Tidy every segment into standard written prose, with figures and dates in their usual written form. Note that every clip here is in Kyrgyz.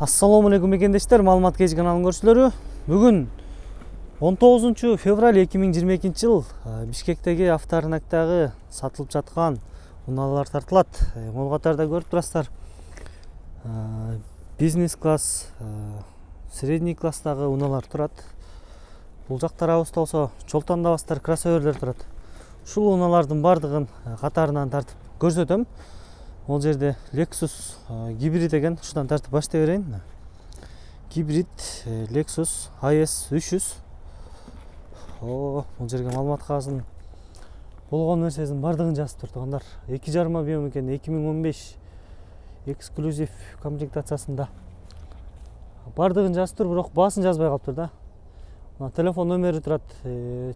Assalomu alaykum ekendештер, маалымат кеч каналынын көрүүчүлөрү. Бүгүн 19 февраль 2022 жыл Бишкектеги авторынактагы сатылып жаткан унаалар тартылат. Могул катарда көрүп турасыздар. Бизнес класс, средний класстагы унаалар турат. Бул жак тарабыбызда болсо чолтондабастар, кроссоверлер турат. Ушул унаалардын бардыгын катарынан тартып көрсөтөм. Ол жерде Lexus гибрид деген, ушудан тартып баштай берейин. Гибрид Lexus IS 300. Бул жерге маалымат кагазынын болгон нерсесинин бардыгын жазып тургандар. 2,5 объем экен, 2015 эксклюзив комплектациясында. Бардыгын жазып тур, бирок баасын жазбай калыптыр да. Телефон номери турат,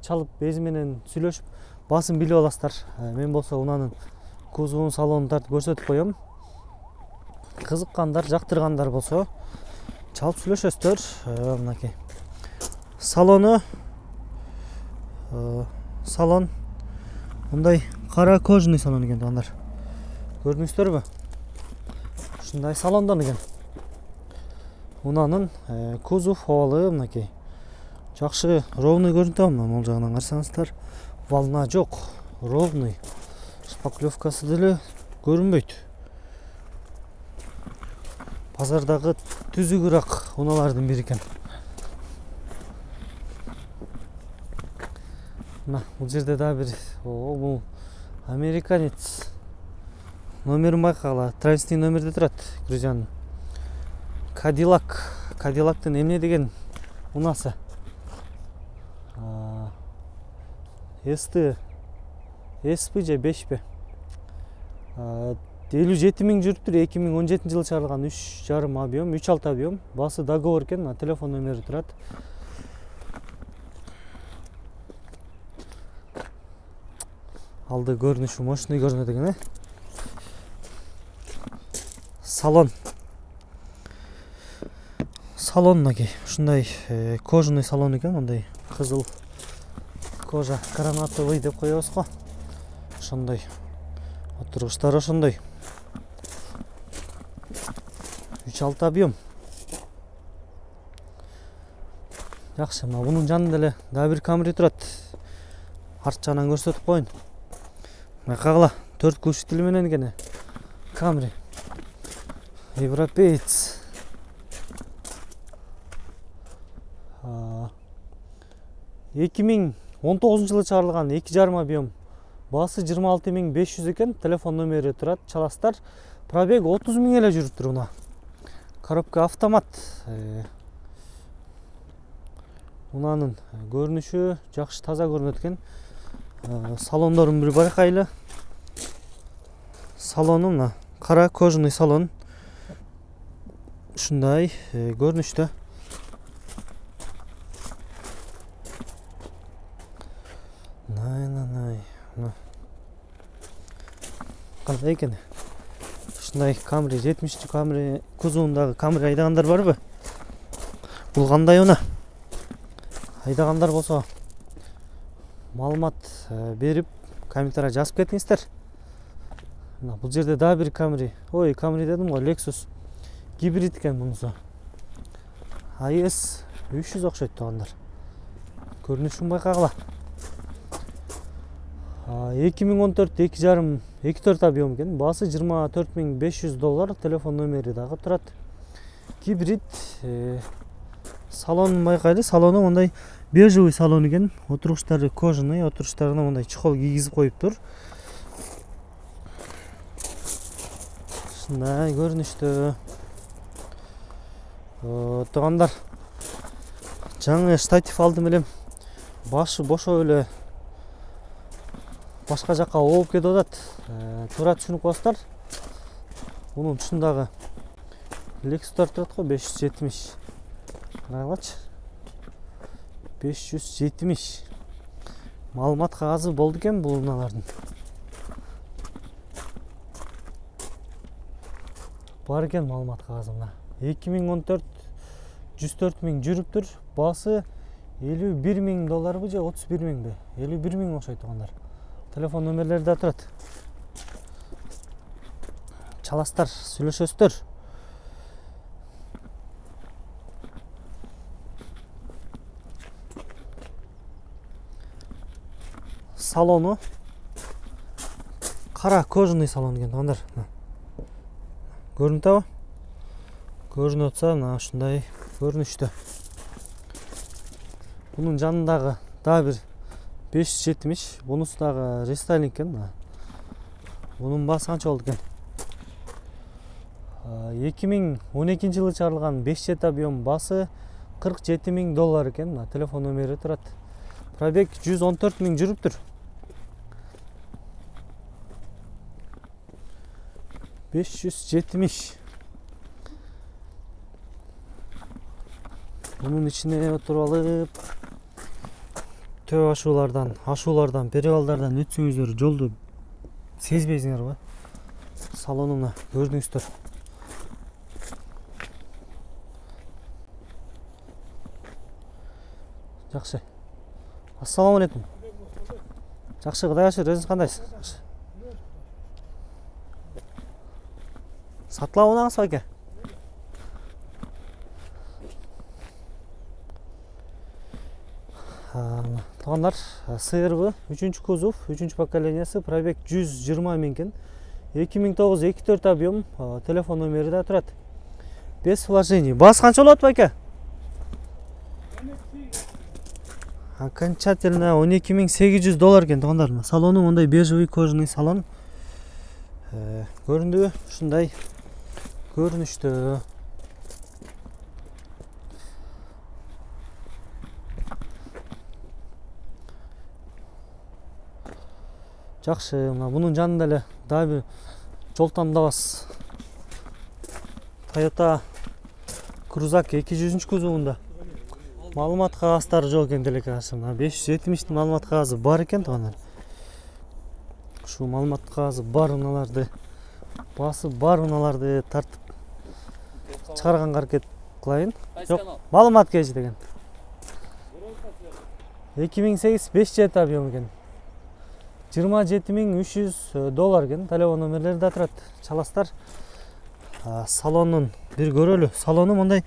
чалып эзи менен сүйлөшүп баасын билип аласыздар. Мен болсо унанын кузовун, салонун тартып көрсөтүп коем. Кызыккандар, жактыргандар болсо чалып сүйлөшөсүздөр. Мынакей салону, салон мындай кара кожаный салон экен туугандар. Көрдүңүздөрбү? Ушундай салондон экен. Унанын кузов абалы мынакей жакшы, ровный көрүнүп атабы? Могул жагынан карасаңыздар, волна жок, ровный. Шпаклевкасы деле көрүнбөйт. Базардагы түзүгүрөөк унаалардын бири экен. Бул жерде да бир, бул американец. Номерин байкагыла, транзитный номерде турат. Грузиянын Кадиллактын эмне деген унасы? SP же 5 57 миң жүрүптүр. 2017 жылы чыгарылган, 3,5 объем, 3,6 объем. Басы договор экен, телефон номери турат. Алды көрүнүшү мощный көрүнөт экен, Салон мынакей, ушундай кожаный салон экен, мындай кызыл кожа, гранатовый деп коебуз го. Ошондой отургучтар, ошондой 3,6 объем. Жакшы, мунун жанында эле дагы бир Camry турат. Арт жагынан көрсөтүп коеюн. Байкагыла, 4 глушитель менен экен. Camry. Европеец. 2019 жылы чыгарылган, 2,5 объем. Басы 26.500 экен, телефон номери турат, чаластар. Пробег 30 миң эле жүрүптүр уна. Коробка автомат. Унанын көрүнүшү жакшы, таза көрүнөт экен. Салондорун бир байкайлы. Салону мына кара кожаный салон. Ушундай көрүнүштө. Кандай экен? Ушундай Camry, 70 Camry кузовундагы Camry айдагандар барбы? Бул кандай уна? Айдагандар болсо маалымат берип, комментарий жазып кетиңиздер. Бул жерде дагы бир Camry. Camry дедим го, Lexus гибрид экен мунусу. IS 300 окшойт туугандар. Көрүнүшүн байкагыла. 2014 2,5 объем экен. Басы $24.500. Телефон номери дагы турат. Гибрид. Салонун байкайлы. Салону мындай бежевый салон экен. Отургучтары кожаный, отургучтарына мындай чехол кийгизип коюптур. Ушундай көрүнүштө. Туугандар, жаңы штатив алдым элем. Башы бошо эле башка жакка ооп кетип атат. Туура түшүнүп коесуздар. Мунун тушундагы Lexus'тар турат го, 570. Карагылачы. 570. Маалымат кагазы болду экен бул унаалардын. Бар экен маалымат кагазы мына. 2014 104 миң жүрүптүр. Басы $51 миң же 31 миңби? 51 миң окшойт туугандар. Телефон номерлери да турат. Чаластар, сүйлөшөсүздөр. салону кара кожаный салон экен туугандар. Көрүнүп атабы? Көрүнүп атса, мына ушундай көрүнүштө. Бунун жанындагы дагы бир 570, бунусу дагы рестайлинг экен. Бунун баасы канча болду экен? 2012-жылы чыгарылган 5 жет объем, баасы $47,000 экен. Телефон номери турат. Пробег 114,000 жүрүптүр. 570. Bunun içine oturup alıp төп ашуулардан, перевалдардан өтсөңүздөр жолду сезбейсиңер го. Салонуна көрдүңүздөр. Жакшы. Ассаламу алейкум. Жакшы, Кудай ашыр, өзүңүз кандайсыз? Сатылап унаңыз аке. Туугандар, СРБ 3-чү кузов, 3-чү поколениясы, пробег 120,000 экен. 2009-24 объем, телефон номери да турат. Без вложений. Баасы канча болот аке? Окончательно $12,800 экен туугандар. Салону мондай бежевый кожаный салон. Көрүндүбү? Ушундай көрүнүштө. Жакшы, мына бунун жанында эле дагы бир жол тандабас. Toyota Cruzak 200 кузовунда маалымат кагаздары жок экен деле кажется. 570 маалымат кагазы бар экен туугандар. Ушул маалымат кагазы бар унааларды, баасы бар унааларды тартып чыгарганга аракет кылайын. Жок, маалымат кежи деген. 2008 5 жет объем экен. $27,300 экен. Телефон номерлери да турат. Чаластар. Салонун бир көрөлү. Салону мындай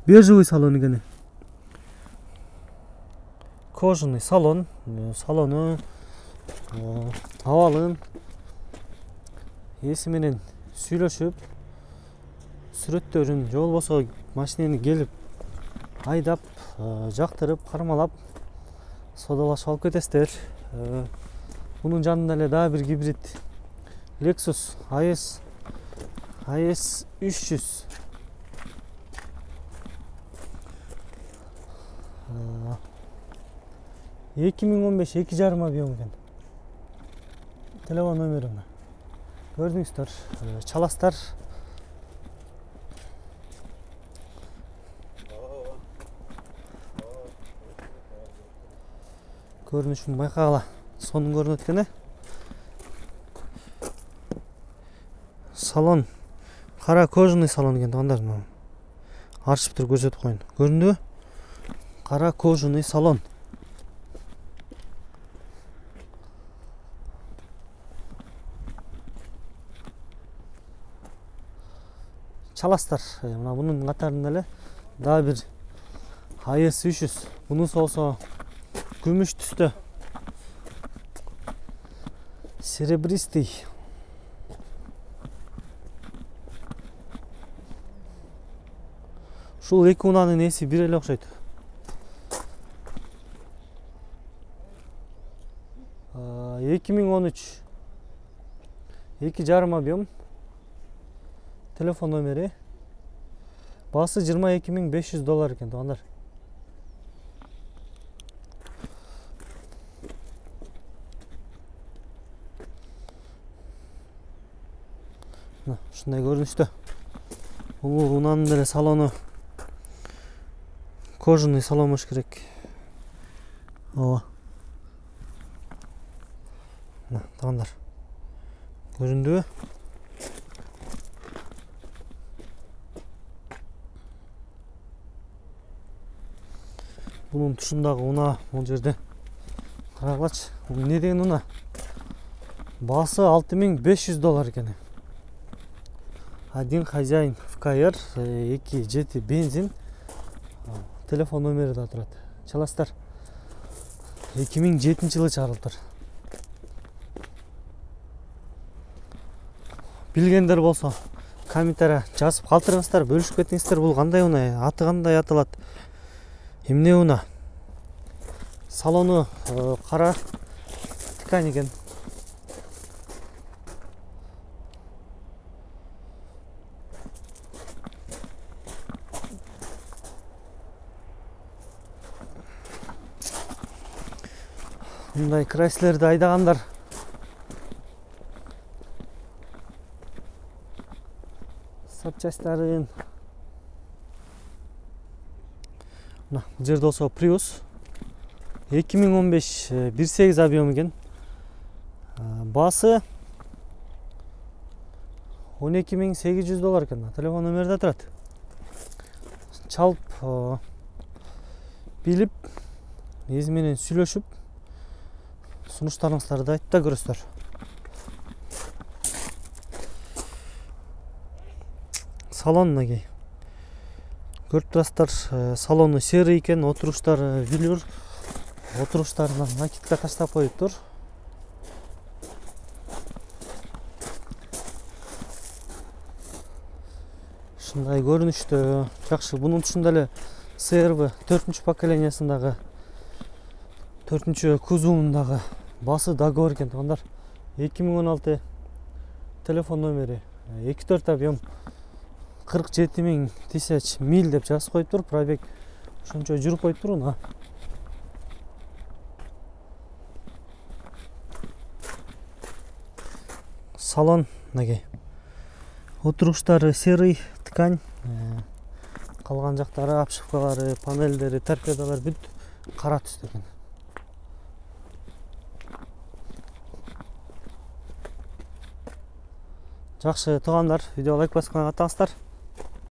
бежевый салон экен. Кожаный салон. Салону абалын эси менен сүйлөшүп, сүрөттөрүн же болбосо машинени келип айдап, жактырып, кармалап, содалашып алып кетесиздер. Bunun жанында эле дагы бир гибрид Lexus IS 300. Ee, 2015 2,5 объем экен. Телефон номерим. Көрдүңүздөр, чаластар. Көрүнүшүн байкагыла. Сонун көрүнөт экен. Салон кара кожаный салон экен туугандар. Аршып туруп көрсөтүп коеюн. Көрүндүбү? Кара кожаный салон. Чаластар. Мына бунун катарында эле дагы бир IS 300. Бунусу болсо күмүш түстө. Серебристый. Ушул эки унанын эси бир эле окшойт. 2013 2,5 объем. Телефон номери. Баасы $22,500 экен туугандар. Ушундай көрүнүштө. Бул унанын деле салону кожаный салон болуш керек. Ооба. Туугандар. Көрүндүбү? Бунун тушундагы уна бул жерде. Карагылачы. Бул эмне деген уна? Баасы $6,500 экен. Один хозяин ФКР, 2 жети бензин. Телефон номери да турат. Чаластар. 2007-жылы чыгарылыптыр. билгендер болсо комментария жазып калтырыңыздар, бөлүшүп кетиңиздер. Бул кандай унаа, аты кандай аталат, эмне унаа? Салону кара ткань экен. Мындай Крайслерди айдагандар запчастьтарын мына бул жерде болсо Prius 2015 1.8 объем экен. Баасы $12.800 экен. Телефон номерде турат. Чалып билип, эзи менен сүйлөшүп, сунуштарыңыздарды айтып да көрөсүздөр. Салон мынакей. Көрүп турасыздар, салону серый экен, отуруштар велюр. Отуруштарына накидка таштап коюптур. Ушундай көрүнүштө жакшы. Бунун ушундай эле CR-V 4-чү поколениясындагы 4-чү кузовундагы баасы договор экен. Туугандар 2016 телефон номери 2.4 объем 47.000 миль деп жазып коюптур. Пробег ошончо жүрүп коюптур уна. Салон мынакей. Отуруштары серый ткань. Калган жактары, обшивкалары, панелдери, торпедалар бүт кара түстө экен. Жакшы туугандар, видео лайк басып каттыңыздар.